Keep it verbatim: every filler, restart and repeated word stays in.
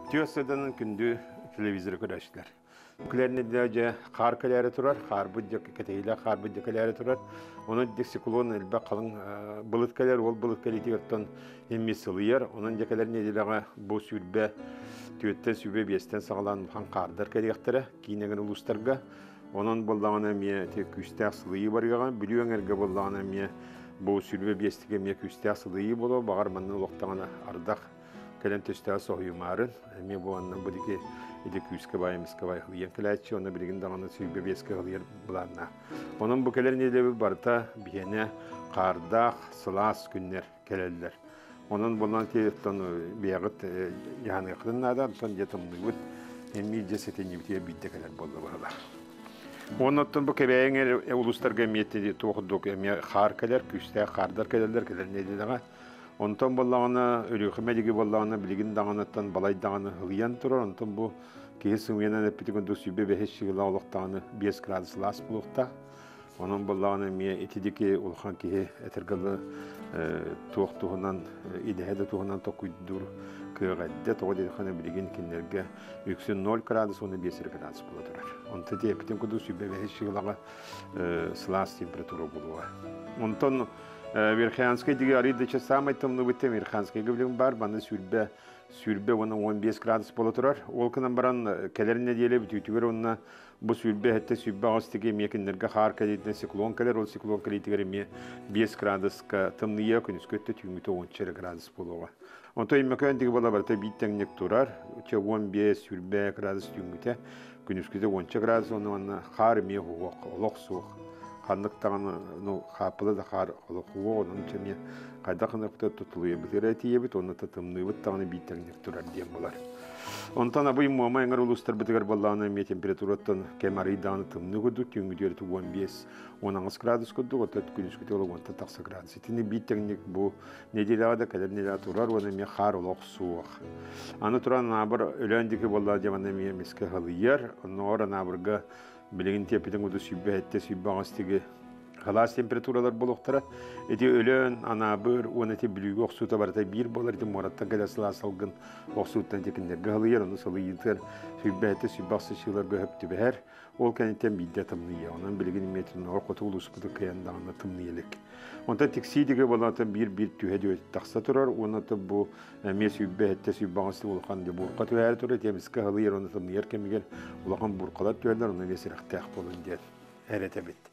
Түөс сыданын күндү телевизор көрөөччүлэр. Күлэрни дьэ хаар кэлээри турар, хаарбыт дьэ кэтэһиилээх хаарбыт дьэ кэлээри турар. Онон дик циклон элбэх халыҥ былыт кэлэр, ол былыт кэлиитигэртэн эмми сылыйар. Онон дьэ кэлэр нэдиэлэҕэ бу сүүрбэ түөттэн сүүрбэ биэстэн саҕалаан улахан хаардар кэлиэхтэрэ киинэгин улуустарга. Онон буоллаҕына эмиэ ити күүстээх сылыйыы барыаҕа. Бүлүү эҥэргэ буоллаҕына эмиэ бу сүүрбэ биэстигэ эмиэ күүстээх сылыйыы буолуо. Баҕар манна олохтоҕуна ардах кэлэн төстөөх соһуйумаарын эмиэ бу анна бу диги ити күүскэ баай эмискэ баай хылыйан кэлээччи онно билигин даҕаны сүүрбэ биэскэ хылыйар былааннаах. Онон бу кэлэр нэдиэлэбит барыта биһиэнэ хаардаах сылаас күннэр кэлэллэр. Онон булан тиэттэн биэҕит яһаныахтын наада, онтон дьэ тымныыбыт эмиэ дьэ сэтинньибитигэр биирдэ кэлэр буолла быһыылаах. Оннуттан бу Кэбээйиҥ улуустарга эмиэ туох курдук эмиэ хаар кэлэр, күүстээх хаардар кэлэллэр кэлэр нэдиэлэҕэ. Онтон буоллаҕына Өлүөхүмэ диги буоллаҕына билигин даҕаныттан балай даҕаны ылыйан турар. Онтон бу киһи сымыйанан эппитин курдук сүүрбэ бэһис чыгыла олохтоҕуна биэс градус сылаас буолуохтаах. Онон буоллаҕына эмиэ ити диги улахан киһи этэргэлы туох туһунан идэһэ да туһунан токуйдуур кыаҕа эдде тоҕо диэтэххинэ билигин кинилэргэ үксүн ноль градус уонна биэс градус буола турар. Онтон ити эппитин курдук сүүрбэ бэһис чыгылаҕа сылаас температура буолуоҕа. Онтон Верхоянскай диги арыйдыча самай тымныбыт Верхоянскайга билим бар, манна сүүрбэ сүүрбэ уонна уон биэс градус буола турар. Ол гынан баран кэлэр нэдиэлэ бүтүүтүгэр уонна бу сүүрбэ сэттэ сүүрбэ аҕыс диги эмиэ кинилэргэ хаар кэлиитинэн циклон кэлэр, ол циклон кэлиитигэр эмиэ биэс градуска тымныйа күнүскү өттө түүҥҥүтэ уонча эрэ градус буолуоҕа. Онтон Өймөкөөн диги буола барыта биир тэҥник турар, чэ уон биэс сүүрбэ градус түүҥҥүтэ, күнүскүтэ уонча градус уонна манна хаар эмиэ уһуох, олох суох. Ханнык даҕаны, ну, хааппыла да хаар олох уох, онон эмиэ хайдах гынаппыта тутулуйабыт эрэ тиийэбит, онно тымныыбыт даҕаны биир тэҥник турар диэн буолар. Онтон абый Муома эҥэр улуустарбытыгар буоллаҕына эмиэ температураттан кэм арый даҕаны тымныы курдук, түүҥҥү уон биэс уон аҕыс градус курдук, оттон күнүскүтэ олох уонтан тахса градус. Итини биир тэҥник бу нэдиэлэҕэ да кэлэр нэдиэлэҕэ турар, уонна эмиэ хаар олох суох. Аны туран Анаабыр Өлөөн диэки буоллаҕа дьэ манна эмиэ эмискэ халыйар, оннооҕор Анаабырга билигин тиэппитин курдук сүүрбэ сэттэ сүүрбэ аҕыс диги халаас температуралар буолуохтара. Ити Өлөөн, Анаабыр уонна ити Бүлүүгэ охсуута барыта биир буолар, ити муораттан кэлэр сылаас салгын охсууттан ити кинилэргэ халыйар, ону сылыйыытыгар сүүрбэ сэттэ сүүрбэ аҕыс чыыларга өп түбэһэр. Ол кэнниттэн биирдэ тымныйа. Онон билигин эмиэ тымныйа хоту улууспуту кыайан даҕаны тымныйа илик. Онтон Тиксии диги буолан биир-биир түһэ түһэ тахса турар, уонна бу эмиэ сүүрбэ сэттэ сүүрбэ аҕыс улахан буурка түһээри турар, ити эмискэ халыйар, онно тымныйар кэмигэр улахан бууркалар түһэллэр, онно эмиэ сирэхтээх буолун диэн эрэтэбит.